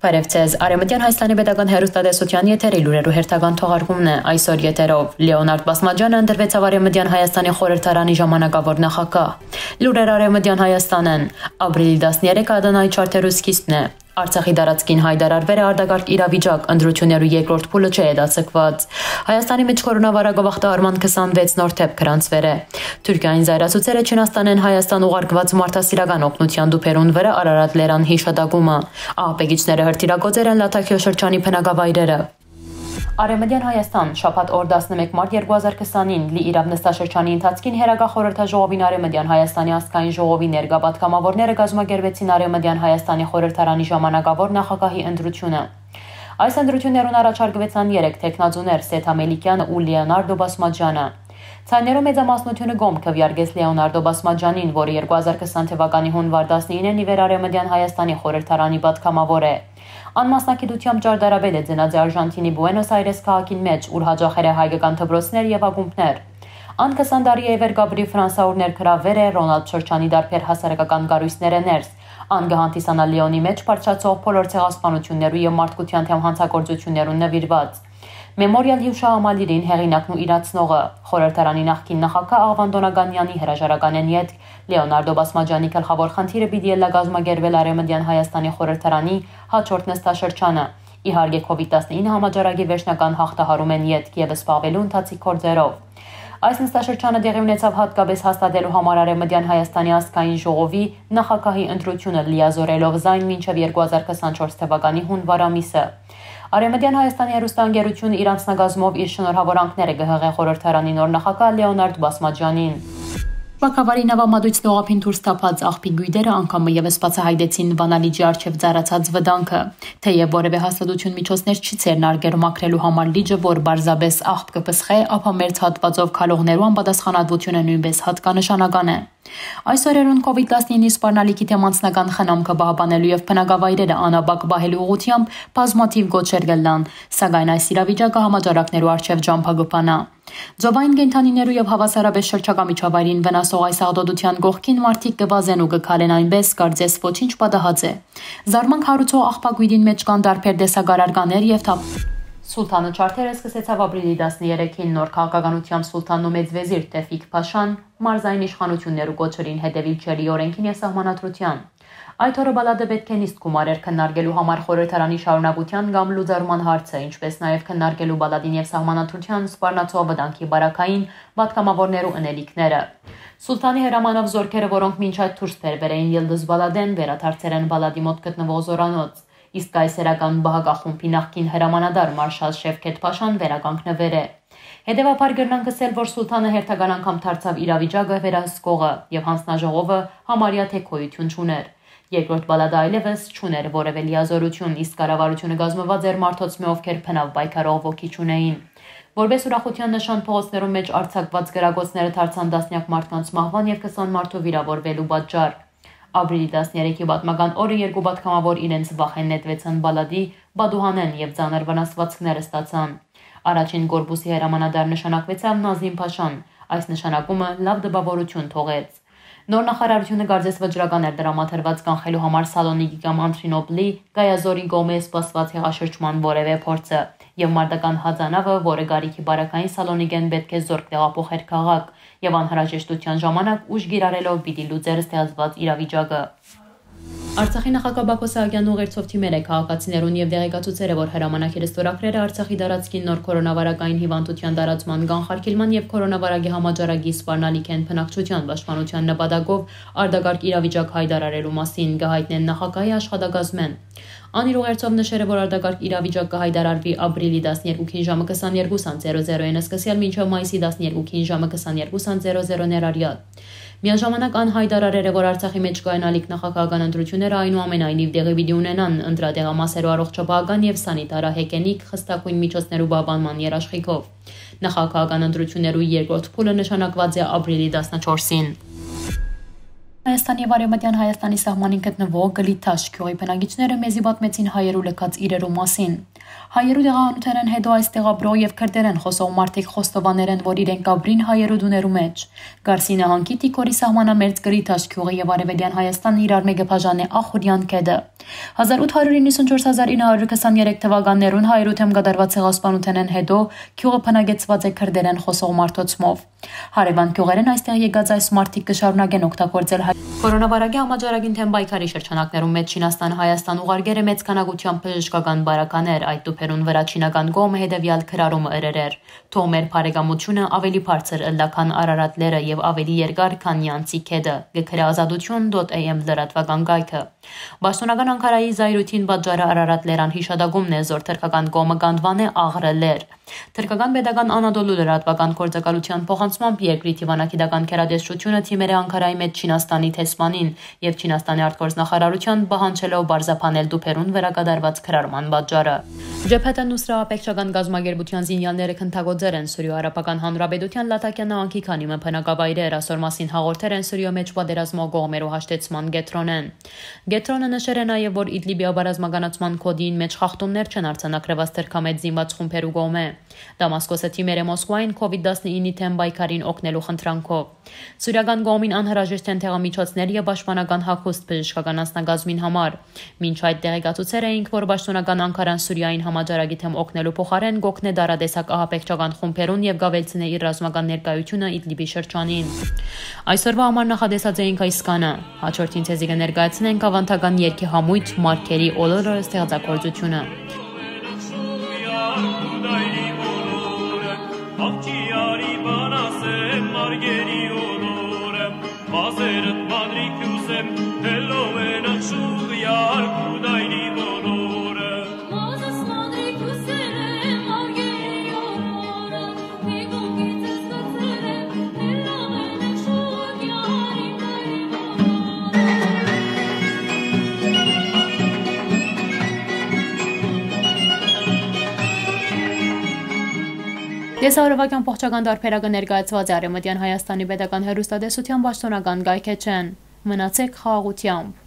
Բարև ձեզ, Արևմտյան Հայաստանի պետական հեռուստատեսության եթերի լուրերու հերթական թողարկումն է այսօր եթերով։ Լեոնարդ Բասմաջյանը ընտրվեցավ Արևմտյան Հայաստանի խորհրդարանի ժամանակավոր նախագահ։ Լուրեր Արևմտյան Հայաստանն ապրիլի 13-ը Ադանայի չարթերու սկիզբն է։ Արցախի դարածքին հայտարարվել է արտակարգ իրավիճակ, ընտրություններու երկրորդ փուլը չէ հետաձգված։ Հայաստանի մեջ կորոնավիրուսի գաղթահարման 26 նոր թեփ գրանցվել է։ Թուրքիային զայրացուցել է Չինաստանեն Հայաստան ուղարկված մարդասիրական օգնության դուփերուն վրա Արարատ լերան հիշատակումը։ Ահապեգիչները հրթիռագործել են Լաթաքիո շրջանի բնակավայրերը։ Արևմտյան Հայաստան շաբաթ օր 11 մարտ 2020-ին լի իրավ նստաշրջանի ընթացքին Հերագա խորհրդաժողովին Արևմտյան Հայաստանի ազգային ժողովի ներկա պատգամավորները կազմակերպեցին Արևմտյան Հայաստանի խորհրդարանի ժամանակավոր նախագահի ընտրությունը։ Այս ընտրություններուն առաջարկվեցան 3 տեխնազուներ՝ Սեթ Ամելիկյանը ու Լեոնարդո Բասմաջյանը։ Ցայներու մեծամասնությունը գոմ քվեարկեց Լեոնարդո Բասմաջյանին, որը 2020 թվականի հունվար 19-ին իվեր Արևմտյան Հայաստանի խորհրդարանի պատգամավոր է։ Անմասնակիտությամբ ճարտարապետ է ծնած Արժանտինի Բուենոս Այրես քաղաքին մեջ, ուր հաջողել է հայկական դպրոցներ եւ ակումբներ։ Ան 20 տարի է վեր Գաբրի Ֆրանսաուր ներգրավվել է Ռոնալդ Շրջանի դարբեր հասարակական կառույցները ներս։ Ան գահանտիսանա Լեոնի մեջ բարձրացող բոլոր ցեղասպանություններու եւ մարդկության թեմ հանցագործություններուն նվիրված։ Մեմորիալ հյուշահամալիրին հեղինակն ու իրացնողը խորհրդարանի նախկին նախագահ Աղվան Դոնագանյանի հրաժարականեն յետ Լեոնարդո Բասմաջյանի գլխավոր խնդիրը պիտի ելա կազմակերպել Արևմտյան Հայաստանի խորհրդարանի հաջորդ նստաշրջանը։ Իհարկե COVID-19 համաճարակի վերջնական հաղթահարում են յետք եւ սպառվելու ընթացիկ գործերով։ Այս նստաշրջանը տեղի ունեցավ հատկապես հաստատելու համար Արևմտյան Հայաստանի ազգային ժողովի նախագահի ընտրությունը լիազորելով զայն մինչև 2024 թվականի հունվար ամիսը։ Արևմտյան Հայաստանի հեռուստաընկերությունը իր անձնագազմով իր շնորհավորանքները կհղե խորհրդարանի նոր նախագահ Լեոնարդ Բասմաջյանին։ Բակավարի նավամատույցն օղափին դուրս թափած աղբի գույդերը անգամ եւս բացահայտեցին Վանալիջի արչեւ ծառացած վտանգը, թեև որևէ հաստատություն միջոցներ չի ցերնարգել մաքրելու համար լիճը, որ բարձաբես աղբ կպսխե, ապա մերձ հատվածով քալողներու անպատասխանատվությունը նույնպես հատկանշանական է։ Այս օրերուն COVID-19-ի սպառնալիքի թեմ անձնական խնամքը պահպանելու եւ բնակավայրերը անաբակ պահելու ուղղությամբ բազմաթիվ գոչեր կլան, սակայն այս իրավիճակը համաճարակներու արչեւ ջամփագուփանա։ Ձովային կենդանիներու եւ հավասարապես շրջակա միջավայրին վնասող այս աղտոտության գողքին մարդիկ կվազեն ու կքալեն այնպես, կարծես ոչինչ պատահած է։ Զարմանք հարուցող աղբագույդին մեջ կան դարբեր տեսակարարկաներ եւ թափ։ Սուլթանը չարթերը սկսեցավ ապրիլի 13-ին նոր քաղաքականությամբ Սուլթանն ու մեծ վեզիր Տեֆիկ Փաշան մարզային իշխանություններու կոչերին հետևիլ չելի օրենքին եւ սահմանադրության։ Այդ օրը բալադը պետք է նիստ գումարեր քննարկելու համար խորհրդարանի շարունակության կամ լուծարման հարցը, ինչպես նաեւ քննարկելու բալադին եւ սահմանադրության սպառնացող վտանգի բարակային պատգամավորներու ընելիքները։ Սուլթանի հրամանով զորքերը, որոնք մինչ այդ դուրս բերվել էին Ելդուզ Բալադեն, վերադարձել են բալադի մոտ գտնվող զորանոց։ Իսկ կայսերական բահագախումբի նախկին հրամանատար մարշալ Շևքեթ Փաշան վերականգնվել է։ Հետևաբար գրնանք ասել, որ Սուլթանը հերթական անգամ դարձավ իրավիճակը վերահսկողը եւ հանձնաժողովը համարյա թեքոյություն չուներ։ Երկրորդ բալադը այլևս չուներ որևէ լիազորություն, իսկ կառավարությունը կազմված էր մարդոց մի ովքեր փնավ պայքարող ոգի չունեին։ Որպես ուրախության նշան փողոցներում մեջ արձակված գրագոցները դարձան տասնյակ մարդկանց մահվան եւ 20 մարդու վիրավորվելու պատճառ։ Ապրիլի 13-ի պատմական օրը երկու պատգամավոր իրենց վախեն նետվեցան բալադի, Բադուհանեն եւ ծանր վնասվածքներ ստացան։ Առաջին կորպուսի հրամանատար նշանակվեցավ Նազիմ Փաշան։ Այս նշանակումը լավ դպավորություն թողեց։ Նոր նախարարությունը կարծես վճռական էր դրամաթրված կանխելու համար Սալոնիկի կամ Անտրինոպլի Գայազորի գոմե սպասված հեղաշրջման որևէ փորձը եւ մարտական հազանավը, որը գարիքի բարակային Սալոնիկեն պետք է զորք տեղափոխեր քաղաք եւ անհրաժեշտության ժամանակ ուժ գիրառելով պիտի լուծեր ստեղծված իրավիճակը։ Արցախի նախագահ Բակո Սահակյանն ուղերձով թիմել է քաղաքացիներուն եւ դեղեկացուցել է, որ հրամանագիրը ստորագրել է Արցախի դարածքին նոր կորոնավիրուսային հիվանդության տարածման կանխարգելման եւ կորոնավիրուսի համաճարակի սպառնալիքեն բնակչության պաշտպանության նպատակով արտակարգ իրավիճակ հայտարարելու մասին կհայտնեն նախագահի աշխատակազմեն։ Անիր ուղերձով նշել է, որ արտակարգ իրավիճակ կհայտարարվի ապրիլի 12-ին ժամը 22:00-ին սկսյալ մինչև մայիսի 12-ին ժամը 22:00 ներառյալ։ Միաժամանակ անհայտարարել է, որ Արցախի մեջ կայանալիք նախագահական ընտրությունները այնուամենայնիվ տեղի պիտի ունենան ընտրատեղամասերու առողջապահական եւ սանիտարահեգենիկ խստակույն միջոցներու պահպանման երաշխիքով։ Նախագահական ընտրություններու երկրորդ փուլը նշանակված է ապրիլի 14-ին։ Հայաստանի եւ Արևմտյան Հայաստանի սահմանին գտնվող Գլիթաշ գյուղի բնակիչները մեզի պատմեցին հայերու լքած իրերու մասին։ Հայերու դեղանութերեն հետո այստեղ ապրող եւ քրդերեն խոսող մարդիկ խոստովաներ են, որ իրենք ապրին հայերու դուներու մեջ։ Գարսի նահանգի Տիկորի սահմանամերձ գրիթ աշկյուղը եւ Արևելյան Հայաստանը իրար մեկը բաժան է Ախուրյան քեդը։ 1894-1923 թվականներուն հայերու թեմ կատարված ցեղասպանութենեն հետո քյուղը փնագեցված է քրդերեն խոսող մարդոցմով։ Հարևան քյուղերեն այստեղ եկած այս մարդիկ կշարունակեն օգտագործել կորոնավիրուսի համաճարակին թեմ պայքարի շրջանակներում մեջ Չինաստանը Հայաստան ուղարկել է մեծ քանակությամբ բժշկական բարականեր, այդ տուփերուն վրա չինական կողմը հետևյալ քրարումը ըրերեր։ Թող մեր բարեկամությունը ավելի բարձր ըլլա քան Արարատները եւ ավելի երկար քան Յանցի քեդը։ Գքրե ազատություն.am լրատվական գայքը։ Պաշտոնական Անկարայի զայրույթին պատճառը Արարատներան հիշադակումն է, զոր թրքական կողմը կանվան է աղրելեր։ Թրքական pedagogan Անադոլու լրատվական գործակալության փոխանցմամբ երկրի Թիվանագիտական քերադեսչությունը թիմեր է Անկարայի մեջ Չինաստանի տեսմանին եւ Չինաստանի արտգործնախարարության պահանջելով բարձապանել դուփերուն վերակատարված քրարման պատճառը։ Ջեփեթը Նուսրա ապեքշական գազագերբության զինյալները քննագործեր են Սուրիո Արաբական Հանրապետության Լատակյան նահանգի քանի մփնակավայրեր ասոր մասին հաղորդեր են Սուրիո մեջ պատերազմող կողմերու հաշտեցման գետրոնեն։ Գետրոնը նշեր է նաեւ, որ Իդլիբի բարձրագանացման կոդին մեջ խախտումներ չեն արձանագրված թրքամեծ զինված խումբերու կողմէ։ Դամասկոսը թիմեր է Մոսկվային COVID-19-ի թեմ պայքարին օգնելու խնդրանքով։ Սուրիական կողմին անհրաժեշտ են տեղամիջոցներ եւ պաշտպանական հագուստ բժշկական անձնագազմին համար։ Մինչ այդ տեղեկացուցեր էինք, որ պաշտոնական Անկարան Սուրիային համաճարակի թեմ օգնելու փոխարեն գոքնե դարադեսակ ահապեկչական խումբերուն եւ գավելցնե իր ռազմական ներկայությունը Իդլիբի շրջանին։ Այսօրվա համար նախադեսած էինք այս կանը։ Հաջորդին ցեզի կներկայացնենք ավանդական երկի համույթ Մարկերի Օլորը ստեղծագործությունը։ Տեսարովական փոխչական դարբերակը ներկայացված է Արևմտյան Հայաստանի պետական հեռուստատեսության պաշտոնական գայքեչեն։ Մնացեք խաղաղությամբ։